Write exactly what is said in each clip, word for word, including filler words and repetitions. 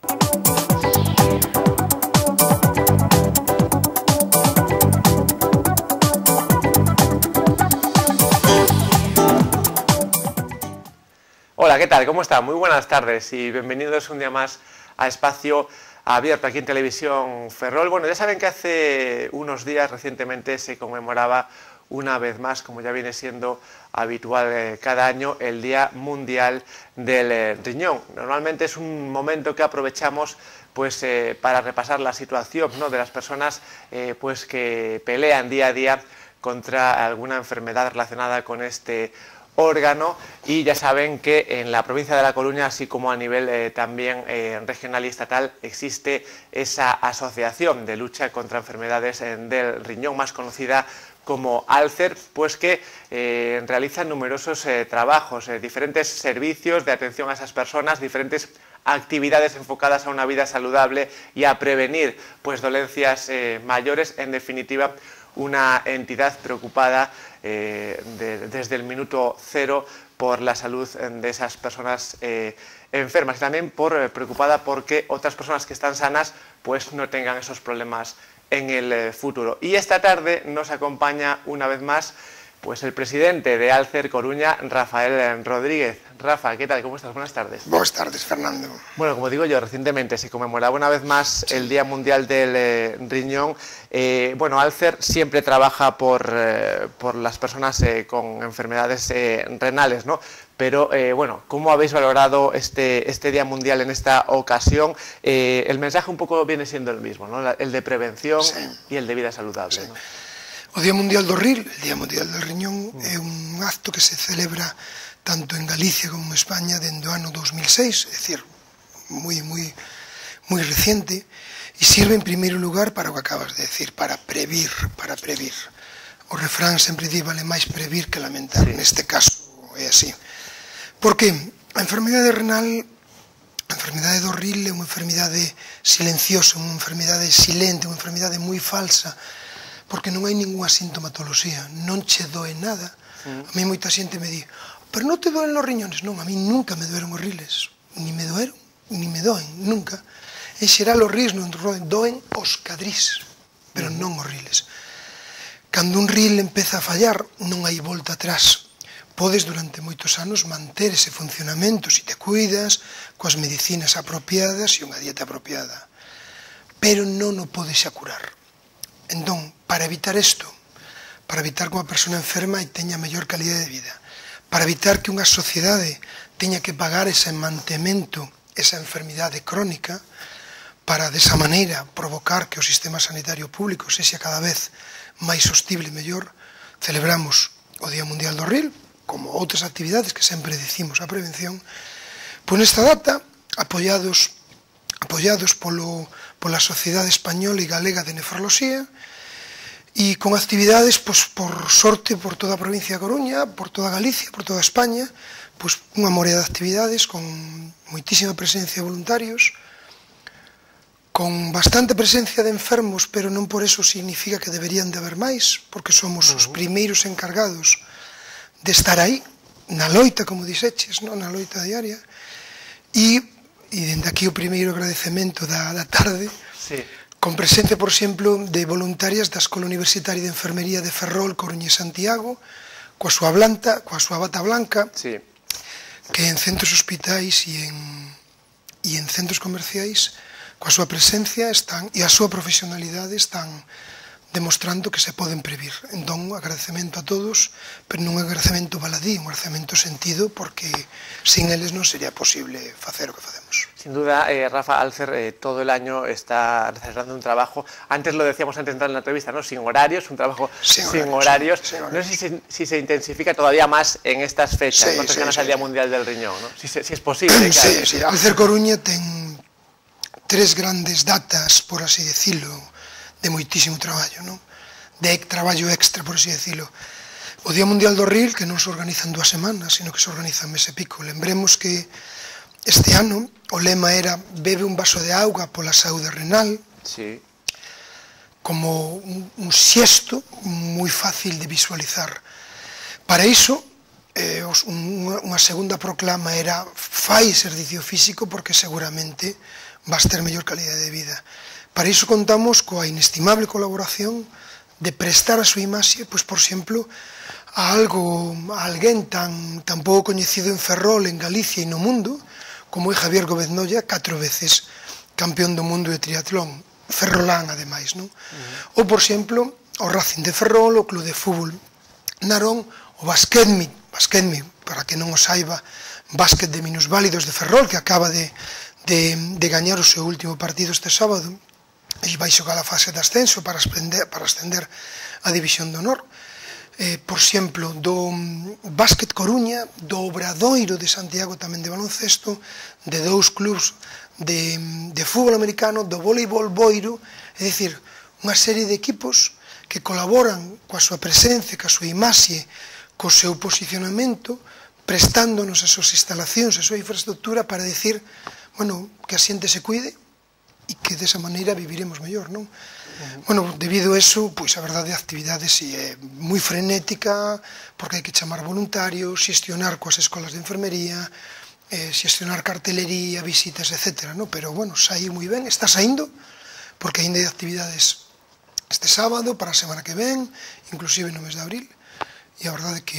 Hola, ¿qué tal? ¿Cómo están? Muy buenas tardes y bienvenidos un día más a Espacio Abierto aquí en Televisión Ferrol. Bueno, ya saben que hace unos días recientemente se conmemoraba una vez más, como ya viene siendo habitual eh, cada año, el Día Mundial del eh, Riñón. Normalmente es un momento que aprovechamos pues eh, para repasar la situación, ¿no?, de las personas eh, pues que pelean día a día contra alguna enfermedad relacionada con este órgano, y ya saben que en la provincia de La Coruña, así como a nivel eh, también eh, regional y estatal, existe esa asociación de lucha contra enfermedades eh, del riñón, más conocida como ALCER, pues que eh, realizan numerosos eh, trabajos, eh, diferentes servicios de atención a esas personas, diferentes actividades enfocadas a una vida saludable y a prevenir pues dolencias eh, mayores. En definitiva, una entidad preocupada eh, de, desde el minuto cero por la salud de esas personas eh, enfermas, y también por, eh, preocupada porque otras personas que están sanas pues no tengan esos problemas en el eh, futuro. Y esta tarde nos acompaña una vez más pues el presidente de ALCER Coruña, Rafael Rodríguez. Rafa, ¿qué tal? ¿Cómo estás? Buenas tardes. Buenas tardes, Fernando. Bueno, como digo yo, recientemente se conmemoraba una vez más el Día Mundial del eh, Riñón. Eh, bueno, ALCER siempre trabaja por, eh, por las personas eh, con enfermedades eh, renales, ¿no? Pero, eh, bueno, ¿cómo habéis valorado este, este Día Mundial en esta ocasión? Eh, el mensaje un poco viene siendo el mismo, ¿no? El de prevención, sí, y el de vida saludable, sí, ¿no? O Día Mundial do R I L, el Día Mundial del Riñón, mm. é un acto que se celebra tanto en Galicia como en España dende o ano dos mil seis, é dicir, moi, moi, moi reciente, e sirve en primeiro lugar para o que acabas de decir, para previr, para previr. O refrán sempre di, vale máis previr que lamentar, sí. Neste caso é así. Porque a enfermidade renal, a enfermidade do R I L é unha enfermidade silenciosa, unha enfermidade silente, unha enfermidade moi falsa, porque non hai ninguna sintomatoloxía, non che doe nada. Mm. A mí moita xente me di, pero non te doen os riñones? Non, a mí nunca me doeron os riles, ni me doeron, ni me doen, nunca. En xeral os riles non doen os cadrís, pero mm. non os riles. Cando un R I L empeza a fallar, non hai volta atrás. Podes durante moitos anos manter ese funcionamento se te cuidas, coas medicinas apropiadas e unha dieta apropiada. Pero non o podes xa curar. Entón, para evitar isto, para evitar que unha persona enferma e teña mellor calidade de vida, para evitar que unha sociedade teña que pagar ese mantemento, esa enfermidade crónica, para desa maneira provocar que o sistema sanitario público sexa cada vez máis sostible e mellor, celebramos o Día Mundial do R I L, como outras actividades que sempre dicimos a prevención, pois nesta data, apoiados, apoiados polo, pola Sociedade Española e Galega de Nefroloxía, e con actividades, pois, por sorte, por toda a provincia de Coruña, por toda Galicia, por toda España, pois unha morea de actividades con moitísima presencia de voluntarios, con bastante presencia de enfermos, pero non por eso significa que deberían de haber máis, porque somos os primeiros encargados de estar aí, na loita, como dixeches, no? Na loita diaria, e, e dende aquí o primeiro agradecemento da, da tarde, sí, con presencia, por exemplo, de voluntarias da Escola Universitaria de Enfermería de Ferrol, Coruña e Santiago, coa súa blanta, coa súa bata blanca, sí, que en centros hospitais e en, e en centros comerciais, coa súa presencia están, e a súa profesionalidade están demostrando que se poden previr. Entón, agradecemento a todos, pero non un agradecemento baladí, un agradecemento sentido, porque sin eles non sería posible facer o que facemos. Sin duda, eh, Rafa, ALCER eh, todo el año está realizando un trabajo, antes lo decíamos antes de entrar en la entrevista, ¿no? Sin horarios, un trabajo sin, sin horarios. Sin, sin horarios. No sé si, si se intensifica todavía más en estas fechas, sí, no cercanas sí, al sí, Día sí. Mundial del Riñón, ¿no? Si, si es posible. Sí, sí, ALCER Coruña ten tres grandes datas, por así decirlo, de moitísimo traballo, non? De traballo extra, por así decirlo. O Día Mundial do R I L, que non se organiza en dúas semanas, sino que se organiza en mes e pico. Lembremos que este ano o lema era bebe un vaso de auga pola saúde renal, sí, como un, un xesto moi fácil de visualizar. Para iso, eh, os, unha, unha segunda proclama era fai exercicio físico porque seguramente vas ter mellor calidade de vida. Para iso contamos coa inestimable colaboración de prestar a súa imaxe, pois, por exemplo, a algo, a alguén tan, tan pouco coñecido en Ferrol, en Galicia e no mundo, como é Javier Gómez Nolla, catro veces campeón do mundo de triatlón, ferrolán, ademais, non? Uh-huh. Ou, por exemplo, o Racing de Ferrol, o Club de Fútbol Narón, o Basquetmi, Basquetmi, para que non o saiba, básquet de minusválidos de Ferrol, que acaba de, de, de gañar o seu último partido este sábado, e vai xogar a fase de ascenso para ascender, para ascender a División de Honor. Eh, por exemplo, do Básquet Coruña, do Obradoiro de Santiago tamén de baloncesto, de dous clubs de, de fútbol americano, do voleibol boiro, é dicir, unha serie de equipos que colaboran coa súa presencia, coa súa imaxe, co seu posicionamento, prestándonos as súas instalacións, a súa infraestructura para decir, bueno, que a xente se cuide e que desa maneira viviremos mellor, non? Uh-huh. Bueno, debido a eso, pois a verdade, a actividade si é moi frenética, porque hai que chamar voluntarios, xestionar coas escolas de enfermería, eh, xestionar cartelería, visitas, etcétera, non? Pero, bueno, saiu moi ben, está saindo, porque ainda hai actividades este sábado, para a semana que ven, inclusive no mes de abril, e a verdade que,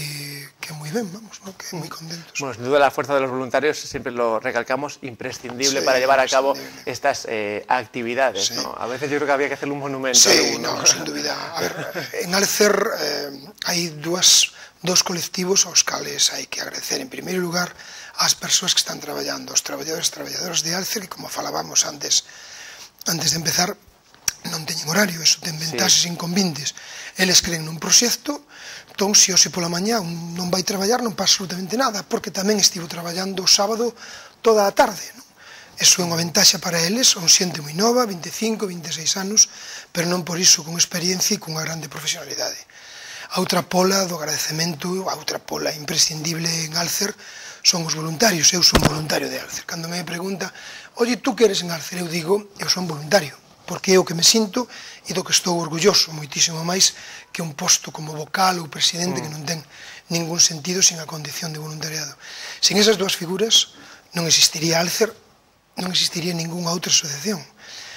que moi ben, vamos, ¿no? Que moi contentos. Bueno, sin duda la fuerza de los voluntarios, siempre lo recalcamos, imprescindible sí, para llevar a cabo estas eh, actividades, sí. ¿no? A veces yo creo que había que hacerle un monumento. Sí, alguno. No, sin dúbida. A ver, en Alcer eh, hai dúas, dos colectivos aos cales hai que agradecer, en primeiro lugar, ás persoas que están traballando, os traballadores e traballadoras de Alcer, que, como falábamos antes, antes de empezar, non teñen horario, eso ten ventaxes sí. inconvintes. Eles creen nun proxecto, entón, se hoxe pola mañá non vai traballar, non pasa absolutamente nada, porque tamén estivo traballando o sábado toda a tarde, non? Eso é unha ventaxa para eles, son xente moi nova, vinte e cinco, vinte e seis anos, pero non por iso con experiencia e con unha grande profesionalidade. A outra pola do agradecemento, a outra pola imprescindible en Alcer, son os voluntarios. Eu son voluntario de Alcer. Cando me pregunta, oye, tú que eres en Alcer? Eu digo, eu son voluntario, porque é o que me sinto e do que estou orgulloso, moitísimo máis que un posto como vocal ou presidente mm. que non ten ningún sentido sin a condición de voluntariado. Sin esas dúas figuras non existiría Alcer, non existiría ningunha outra asociación.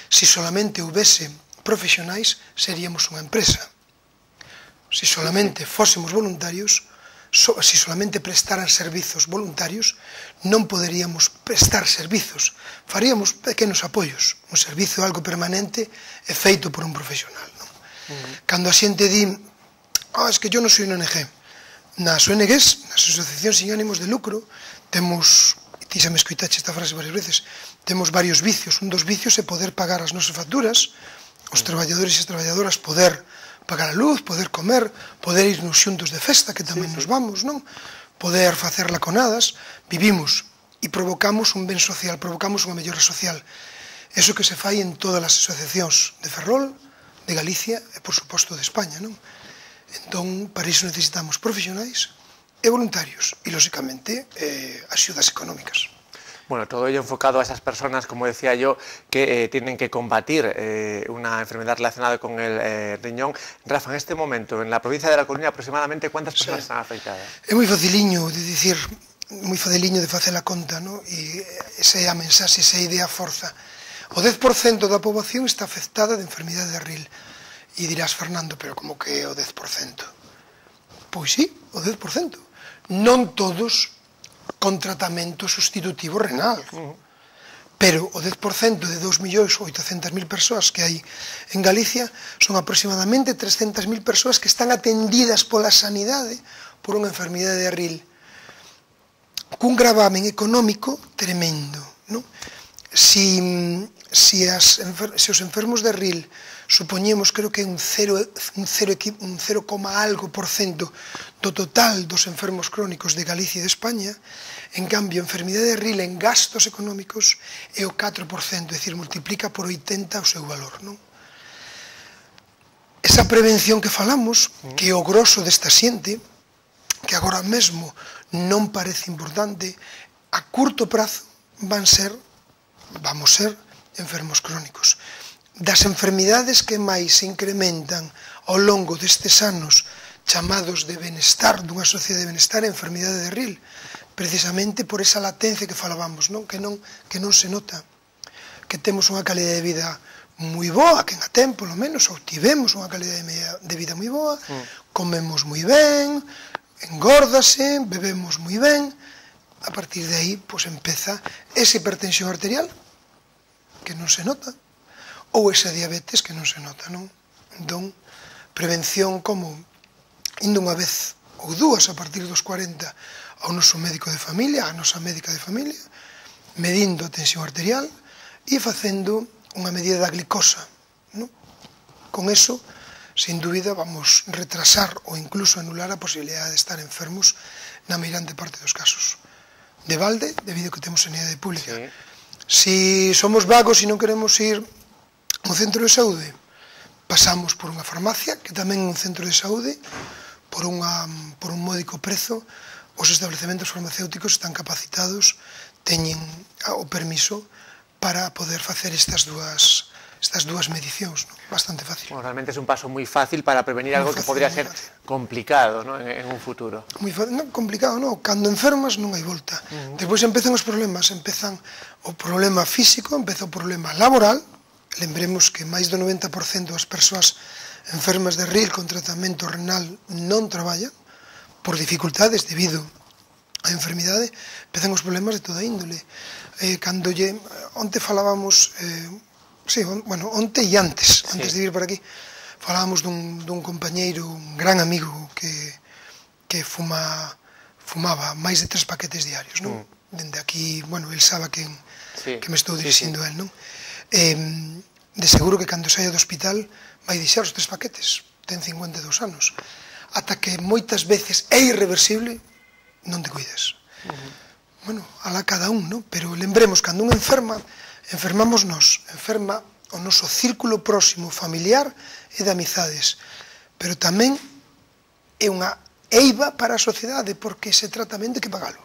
Se solamente houvese profesionais, seríamos unha empresa. Se solamente fósemos voluntarios, so, se solamente prestaran servizos voluntarios, non poderíamos prestar servizos, faríamos pequenos apoios. Un servizo algo permanente é feito por un profesional, non? Uh-huh. Cando a xente di, ah, es que yo non soy un O N G, nas O N Gs, nas asociacións sin ánimos de lucro, temos, e ti xa me escoitache esta frase varias veces, temos varios vicios. Un dos vicios é poder pagar as nosas facturas, os uh-huh. traballadores e as traballadoras poder pagar a luz, poder comer, poder irnos xuntos de festa, que tamén sí, sí. nos vamos, non? Poder facer laconadas, vivimos e provocamos un ben social, provocamos unha mellora social. Eso que se fai en todas as asociacións de Ferrol, de Galicia e, por suposto, de España, non? Entón, para iso necesitamos profesionais e voluntarios e, lóxicamente, eh, axudas económicas. Bueno, todo ello enfocado a esas personas, como decía yo, que eh, tienen que combatir eh, una enfermedad relacionada con el eh, riñón. Rafa, en este momento, en la provincia de La Coruña, aproximadamente, ¿cuántas personas sí. están afectadas? É moi faciliño de dicir, moi faciliño de facer a conta, ¿no? E esa é a mensaxe, esa é a idea forza. O dez por cento da poboación está afectada de enfermidade de Ril. E dirás, Fernando, pero como que é o dez por cento? Pois sí, o dez por cento. Non todos con tratamento sustitutivo renal. Uh-huh. Pero o dez por cento de dous millóns oitocentas mil persoas que hai en Galicia son aproximadamente trescentas mil persoas que están atendidas pola sanidade por unha enfermidade de Ril cun gravamen económico tremendo, non? Si, si, as, si os enfermos de Ril supoñemos, creo que un cero, un cero, un cero, algo por cento do total dos enfermos crónicos de Galicia e de España, en cambio, a enfermidade de Ril en gastos económicos é o catro por cento, é dicir, multiplica por oitenta o seu valor, non? Esa prevención que falamos, que é o grosso desta xente, que agora mesmo non parece importante, a curto prazo van ser, vamos ser, enfermos crónicos. Das enfermidades que máis se incrementan ao longo destes anos chamados de benestar, dunha sociedade de benestar, a enfermidade de Ril, precisamente por esa latencia que falábamos, non? Que non, que non se nota, que temos unha calidade de vida moi boa, que en a tempo, lo menos, ou tivemos unha calidade de vida moi boa, mm. comemos moi ben, engórdase, bebemos moi ben, a partir de aí, pois empeza esa hipertensión arterial, que non se nota, ou esa diabetes que non se nota, non? Entón, prevención como indo unha vez ou dúas a partir dos cuarenta ao noso médico de familia, a nosa médica de familia, medindo a tensión arterial e facendo unha medida da glicosa, non? Con eso, sin dúbida, vamos retrasar ou incluso anular a posibilidade de estar enfermos na meirande parte dos casos. De balde, debido a que temos sanidade pública. Sí. Si somos vagos e non queremos ir a un centro de saúde, pasamos por unha farmacia, que tamén é un centro de saúde, por, unha, por un módico prezo, os establecementos farmacéuticos están capacitados, teñen o permiso para poder facer estas dúas, estas dúas medicións, ¿no? Bastante fácil. Bueno, realmente es un paso muy fácil para prevenir algo fácil, que podría ser fácil. complicado, ¿no? en, en un futuro. Muy fácil, no, complicado, no. Cando enfermas non hai volta. Uh -huh. Despois empezan os problemas, empezan o problema físico, empeza o problema laboral. Lembremos que máis do noventa por cento das persoas enfermas de Ril con tratamento renal non traballan por dificultades debido á enfermidade, empezan os problemas de toda índole. Eh, cando lle, onte falábamos, eh, sí, on, bueno, onte e antes, antes sí. de vir por aquí, falábamos dun, dun compañeiro, un gran amigo que, que fuma, fumaba máis de tres paquetes diarios, non? Mm. Dende aquí, bueno, el sabe que, sí. que me estou dirixindo sí, sí. a él, non? Eh, de seguro que cando saia do hospital vai deixar os tres paquetes, ten cincuenta e dous anos, ata que moitas veces é irreversible, non te cuides. Uh -huh. Bueno, alá cada un, non? Pero lembremos, cando un enferma, enfermamos nós, enferma o noso círculo próximo familiar e de amizades, pero tamén é unha eiva para a sociedade, porque ese tratamento hai que pagalo.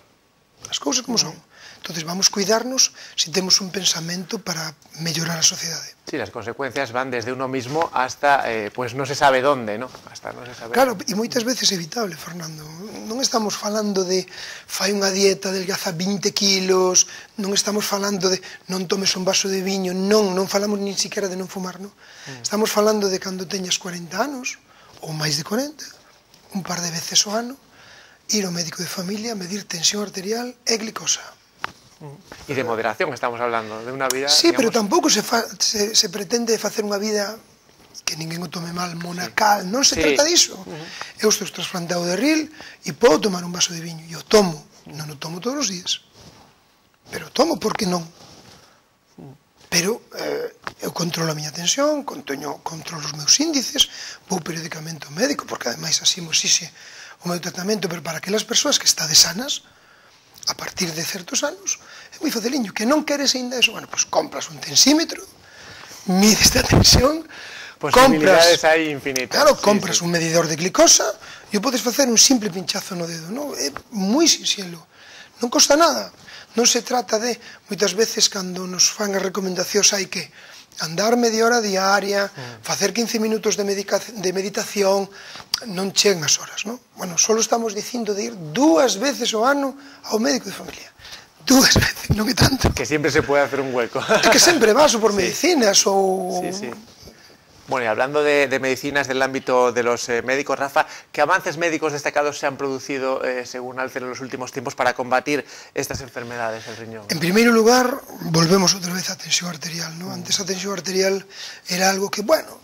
As cousas como son. Entonces vamos a cuidarnos si temos un pensamento para mellorar a sociedade. Sí, las consecuencias van desde uno mismo hasta, eh, pues no se sabe dónde, ¿no? Hasta no se sabe. Claro, e moitas veces é evitable, Fernando. Non estamos falando de fai unha dieta, delgaza vinte kilos, non estamos falando de non tomes un vaso de viño, non, non falamos nin siquiera de non fumar, non? Mm. Estamos falando de cando teñas cuarenta anos, ou máis de cuarenta, un par de veces ao ano, ir ao médico de familia, medir tensión arterial e glicosa. E de moderación estamos hablando, de unha vida... Sí, digamos... pero tampouco se, fa, se, se pretende facer unha vida que ninguén o tome mal, monacal, sí. non se sí. trata disso. Uh -huh. Eu estou trasplantado de Ril e podo tomar un vaso de viño, e o tomo, non o tomo todos os días, pero tomo porque non. Pero eh, eu controlo a miña tensión, conteño, controlo os meus índices, vou periódicamente ao médico, porque ademais así mo exixe o meu tratamento, pero para aquelas persoas que estades sanas, a partir de certos anos, é moi faciliño, que non queres ainda eso, bueno, pois pues compras un tensímetro, mides a tensión, posibilidades hai infinitas. Claro, compras sí, sí. un medidor de glicosa e o podes facer un simple pinchazo no dedo, non? É moi sinxelo, non costa nada. Non se trata de, moitas veces, cando nos fan as recomendacións, hai que andar media hora diaria, mm. facer quince minutos de, de meditación, non chegan as horas, non? Bueno, só estamos dicindo de ir dúas veces ao ano ao médico de familia. Dúas veces, non é tanto. Que sempre se pode hacer un hueco. É que sempre vas ou por sí. medicinas ou... Sí, sí. Bueno, y hablando de, de medicinas del ámbito de los eh, médicos, Rafa, ¿qué avances médicos destacados se han producido, eh, según Alcer, en los últimos tiempos para combatir estas enfermedades del riñón? En primeiro lugar, volvemos outra vez á tensión arterial, ¿no? Antes a tensión arterial era algo que, bueno,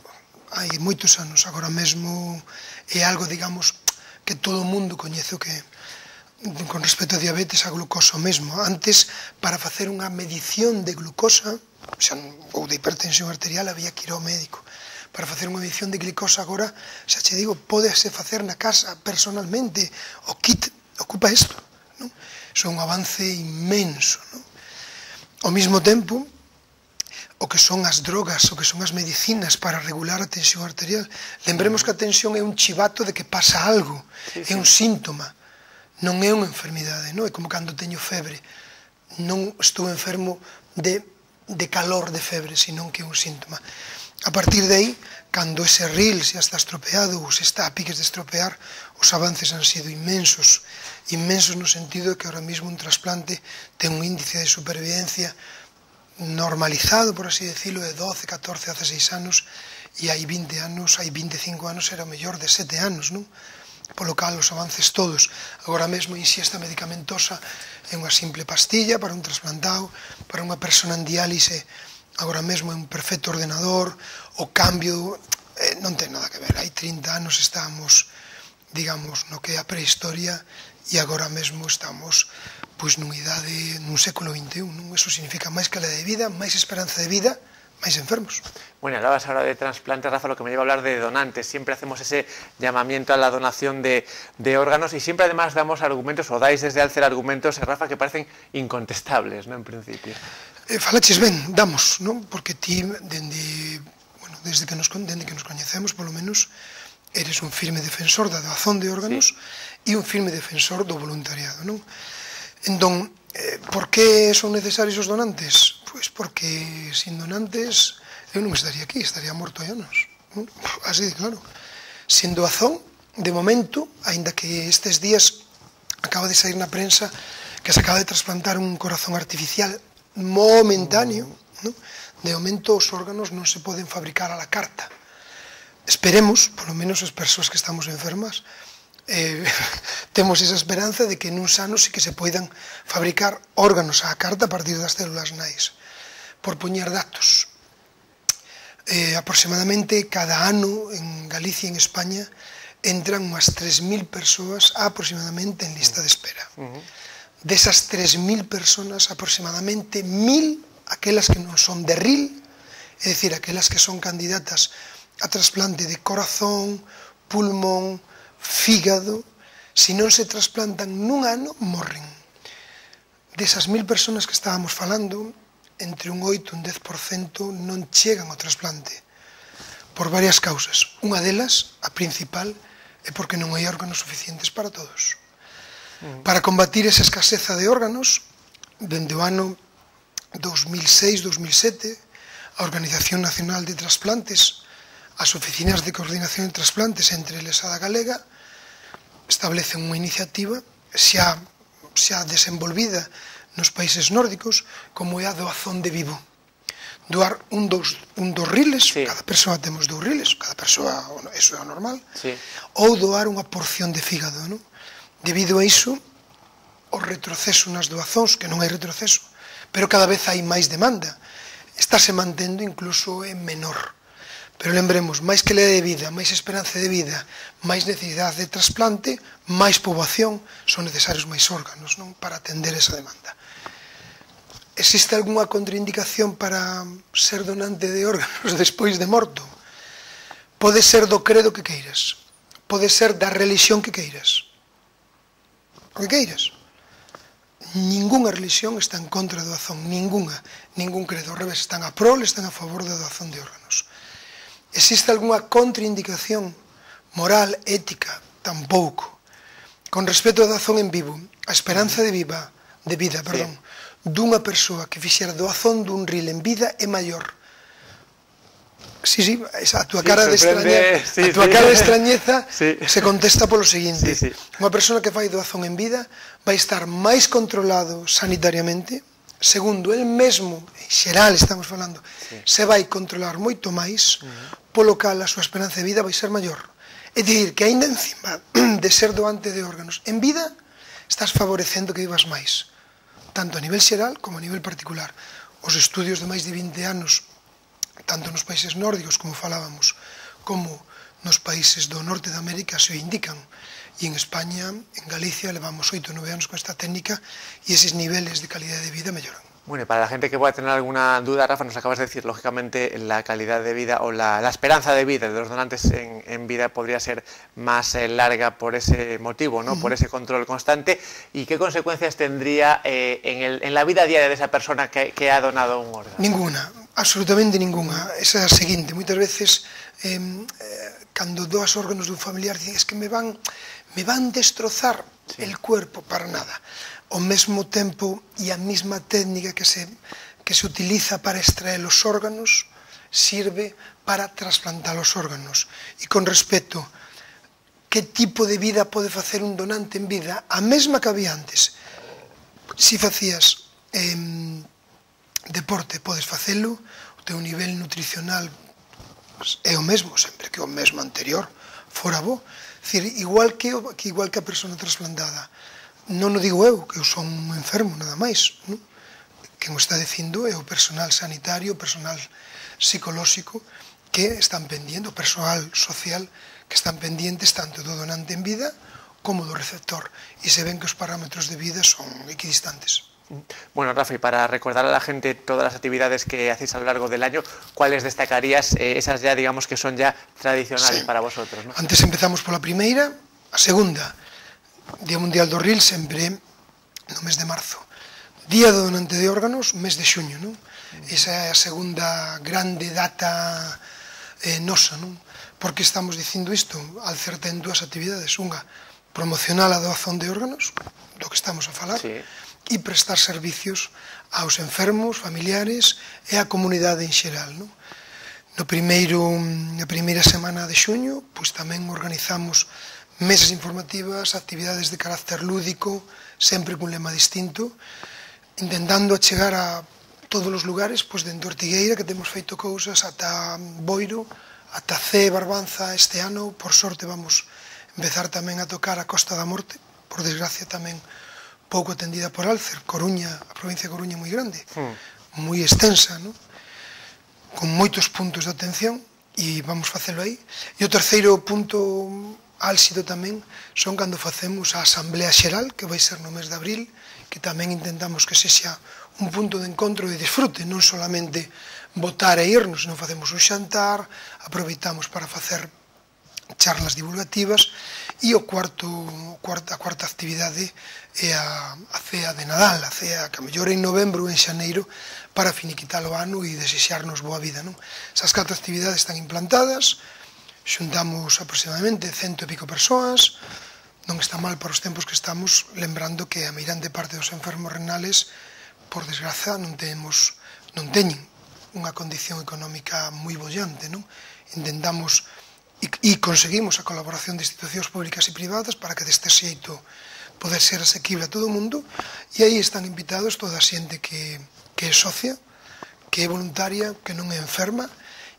hai moitos anos, agora mesmo é algo, digamos, que todo o mundo coñece o que con respecto a diabetes, a glucosa mesmo. Antes, para facer unha medición de glucosa, xa, ou de hipertensión arterial, había que ir ao médico. Para facer unha medición de glicosa agora, xa che digo, pódese facer na casa personalmente, o kit ocupa isto, non? Iso é un avance inmenso, non? Ao mesmo tempo, o que son as drogas, o que son as medicinas para regular a tensión arterial, lembremos que a tensión é un chivato de que pasa algo, sí, sí. é un síntoma, non é unha enfermidade, non? É como cando teño febre, non estou enfermo de, de calor de febre, senón que é un síntoma. A partir de aí, cando ese ril xa está estropeado ou se está a piques de estropear, os avances han sido inmensos, inmensos no sentido de que ahora mismo un trasplante ten un índice de supervivencia normalizado, por así decirlo, de doce, catorce, dieciséis anos, e hai vinte anos, hai veinticinco anos era o mellor de sete anos, non? Polo cal os avances todos. Agora mesmo a inxesta medicamentosa é unha simple pastilla para un trasplantado, para unha persona en diálise agora mesmo é un perfecto ordenador, o cambio eh, non ten nada que ver. Hai trinta anos estamos, digamos, no que é a prehistoria e agora mesmo estamos pois nunha idade, nun século vinte e un, non? Eso significa máis calidad de vida, máis esperanza de vida, máis enfermos. Bueno, hablabas ahora de trasplantes, Rafa, lo que me lleva a hablar de donantes. Siempre hacemos ese llamamiento a la donación de, de órganos y siempre además damos argumentos, o dais desde Alcer argumentos, Rafa, que parecen incontestables, ¿no?, en principio. Eh, falaches ben, damos, non? Porque ti, dende, bueno, desde que nos, dende que nos coñecemos, polo menos, eres un firme defensor da doazón de órganos e sí. un firme defensor do voluntariado, non? Entón, eh, por que son necesarios os donantes? Pois porque sin donantes eu non estaría aquí, estaría morto hai anos, non? Así de claro. Sin doazón, de momento, aínda que estes días acaba de sair na prensa que se acaba de trasplantar un corazón artificial momentáneo, ¿no? De momento os órganos non se poden fabricar a la carta. Esperemos, polo menos as persoas que estamos enfermas, eh, temos esa esperanza de que nuns anos sí que se poidan fabricar órganos á carta a partir das células nais. Por poñer datos, eh, aproximadamente cada ano en Galicia e en España entran unhas tres mil persoas aproximadamente en lista de espera. Uh-huh. Desas tres mil personas, aproximadamente mil, aquelas que non son de R I L, é dicir, aquelas que son candidatas a trasplante de corazón, pulmón, fígado, se non se trasplantan nun ano, morren. Desas mil personas que estábamos falando, entre un oito e un dez por cento non chegan ao trasplante, por varias causas. Unha delas, a principal, é porque non hai órganos suficientes para todos. Para combatir esa escaseza de órganos, dende o ano dos mil seis dos mil sete, a Organización Nacional de Trasplantes, as oficinas de coordinación de trasplantes, entre eles a da Galega, establecen unha iniciativa xa, xa desenvolvida nos países nórdicos, como é a doazón de vivo. Doar un dos, un dos riles, sí. Cada persoa temos dous riles, cada persoa, eso é o normal, sí. Ou doar unha porción de fígado, non? Debido a iso, o retroceso nas doazóns, que non hai retroceso, pero cada vez hai máis demanda, estáse mantendo incluso en menor. Pero lembremos, máis calidad de vida, máis esperanza de vida, máis necesidade de trasplante, máis poboación, son necesarios máis órganos, non? Para atender esa demanda. Existe algunha contraindicación para ser donante de órganos despois de morto? Pode ser do credo que queiras, pode ser da religión que queiras, o que queiras. Ninguna religión está en contra da doazón, ninguna, ningún credo, ao revés, están a prol, están a favor da doazón de órganos. Existe algunha contraindicación moral, ética? Tampouco. Con respecto á doazón en vivo, a esperanza de vida, de vida, perdón, sí. Dunha persoa que fixera doazón dun ril en vida é maior. Sí, sí, a túa cara, sí, de, extraña, sí, a túa sí. cara de extrañeza sí. Se contesta polo seguinte. Sí, sí. Unha persona que fai doazón en vida vai estar máis controlado sanitariamente. Segundo, el mesmo, en xeral estamos falando, sí. Se vai controlar moito máis, uh-huh. Polo cal a súa esperanza de vida vai ser maior. É dicir, que aínda encima de ser doante de órganos en vida, estás favorecendo que vivas máis, tanto a nivel xeral como a nivel particular. Os estudios de máis de vinte anos, tanto nos países nórdicos, como falábamos, como nos países do norte de América, se o indican. E en España, en Galicia, levamos oito ou nove anos con esta técnica e eses niveles de calidad de vida melloran. Bueno, y para la gente que pueda tener alguna duda, Rafa, nos acabas de decir, lógicamente, la calidad de vida o la, la esperanza de vida de los donantes en, en vida podría ser más eh, larga por ese motivo, ¿no? Uh-huh. Por ese control constante. ¿Y qué consecuencias tendría eh, en, el, en la vida diaria de esa persona que, que ha donado un órgano? Ninguna, absolutamente ninguna. Esa é a seguinte, moitas veces, eh, eh, cando doas órganos dun familiar, dicen, es que me van, me van destrozar sí. el cuerpo, para nada. Ao mesmo tempo e a mesma técnica que se, que se utiliza para extraer os órganos sirve para trasplantar os órganos. E con respecto que tipo de vida pode facer un donante en vida, a mesma que había antes. Si facías eh, deporte, podes facelo, o teu nivel nutricional é o mesmo, sempre que o mesmo anterior fora bo. Dicir, igual que, que igual que a persona trasplantada. Non o digo eu, que eu son un enfermo, nada máis. Non? Quen o está dicindo é o personal sanitario, o personal psicolóxico, que están pendientes, o personal social, que están pendientes tanto do donante en vida como do receptor, e se ven que os parámetros de vida son equidistantes. Bueno, Rafa, y para recordar a la gente todas las actividades que hacéis a lo largo del año, ¿cuáles destacarías, eh, esas ya, digamos, que son ya tradicionales sí. para vosotros? ¿no? Antes empezamos pola primeira, a segunda, Día Mundial do Ril, sempre no mes de marzo. Día do donante de órganos, mes de xuño, non? Esa é a segunda grande data eh, nosa, non? Por que estamos dicindo isto? Alcer ten dúas actividades. Unha, promocionar a doazón de órganos, do que estamos a falar, sí. e prestar servicios aos enfermos, familiares e á comunidade en xeral. Non? No primeiro, na primeira semana de xuño, pois tamén organizamos mesas informativas, actividades de carácter lúdico, sempre cun lema distinto, intentando chegar a todos os lugares, pois dende Ortigueira, que temos feito cousas, ata Boiro, ata Cee, Barbanza. Este ano, por sorte, vamos empezar tamén a tocar a Costa da Morte, por desgracia tamén pouco atendida por Alcer. Coruña, a provincia de Coruña é moi grande, mm. moi extensa, non? Con moitos puntos de atención, e vamos facelo aí. E o terceiro punto álxido tamén son cando facemos a Asamblea Xeral, que vai ser no mes de abril, que tamén intentamos que sexa un punto de encontro e disfrute, non solamente votar e irnos, non facemos un xantar, aproveitamos para facer charlas divulgativas, e o cuarto, a cuarta actividade é a, a cea de Nadal, a cea que a mellor en novembro ou en xaneiro, para finiquitar o ano e desexarnos boa vida. Non? Esas catro actividades están implantadas, xuntamos aproximadamente cento e pico persoas, non está mal para os tempos que estamos, lembrando que a meirande parte dos enfermos renales, por desgraza, non temos, non teñen unha condición económica moi bollante, non? Intentamos e, e conseguimos a colaboración de institucións públicas e privadas para que deste xeito poder ser asequible a todo o mundo, e aí están invitados toda a xente que, que é socia, que é voluntaria, que non é enferma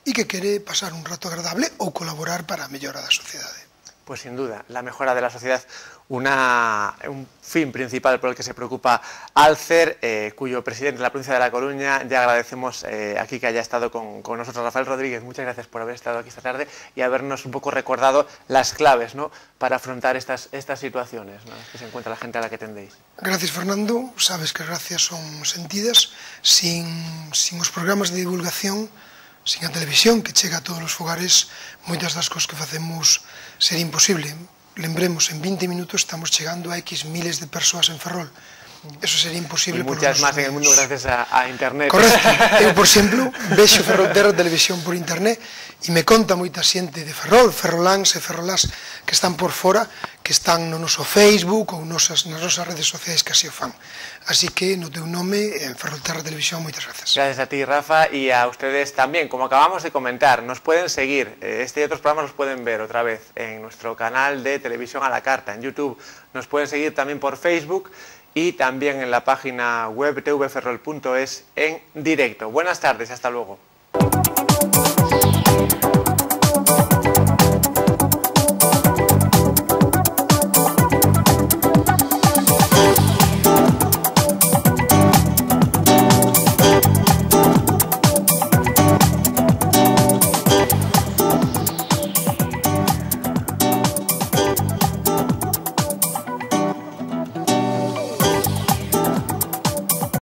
e que quere pasar un rato agradable ou colaborar para a mellora da sociedade. Pues sin duda, la mejora de la sociedad, una, un fin principal por el que se preocupa Alcer, eh, cuyo presidente de la provincia de La Coruña, ya agradecemos eh, aquí que haya estado con, con nosotros. Rafael Rodríguez, muchas gracias por haber estado aquí esta tarde y habernos un poco recordado las claves, ¿no?, para afrontar estas, estas situaciones, ¿no?, que se encuentra la gente a la que tendéis. Gracias, Fernando. Sabes que gracias son sentidas. Sin, sin os programas de divulgación, sin a televisión que chega a todos os fogares, moitas das cosas que facemos sería imposible. Lembremos, en veinte minutos estamos chegando a X miles de persoas en Ferrol. Eso sería imposible. Y muchas más en el mundo gracias a, a internet. Correcto. Eu, por exemplo, vexo Ferrolterra Televisión por internet e me conta moita xente de Ferrol, ferroláns e ferrolás que están por fora, que están no noso Facebook ou nosas, nas nosas redes sociais que así o fan. Así que, no teu nome, en Ferrolterra Televisión, moitas gracias. Gracias a ti, Rafa, y a ustedes también. Como acabamos de comentar, nos pueden seguir, este y otros programas los pueden ver otra vez en nuestro canal de televisión a la carta, en YouTube. Nos pueden seguir también por Facebook y también en la página web t v ferrol punto es en directo. Buenas tardes y hasta luego.